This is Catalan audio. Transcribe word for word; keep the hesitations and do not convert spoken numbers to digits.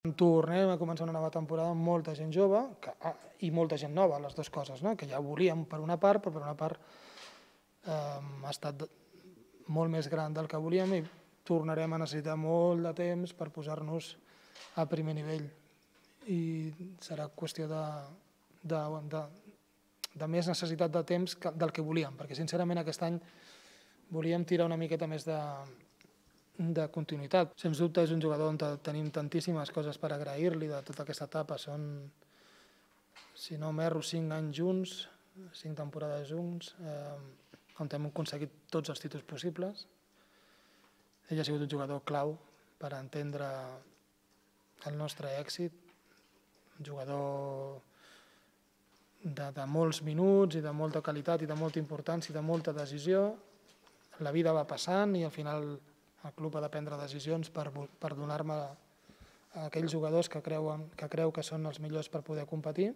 Tornem a començar una nova temporada amb molta gent jove que, ah, i molta gent nova, les dues coses, no? Que ja volíem per una part, però per una part eh, ha estat molt més gran del que volíem i tornarem a necessitar molt de temps per posar-nos a primer nivell. I serà qüestió de, de, de, de més necessitat de temps que, del que volíem, perquè sincerament aquest any volíem tirar una miqueta més de, de continuïtat. Sens dubte és un jugador on tenim tantíssimes coses per agrair-li de tota aquesta etapa. Són, si no m'erro, cinc anys junts, cinc temporades junts, eh, on hem aconseguit tots els títols possibles. Ell ha sigut un jugador clau per entendre el nostre èxit, un jugador de, de molts minuts i de molta qualitat i de molta importància i de molta decisió. La vida va passant i al final el club ha de prendre decisions per, per donar-me a aquells jugadors que, creuen, que creu que són els millors per poder competir.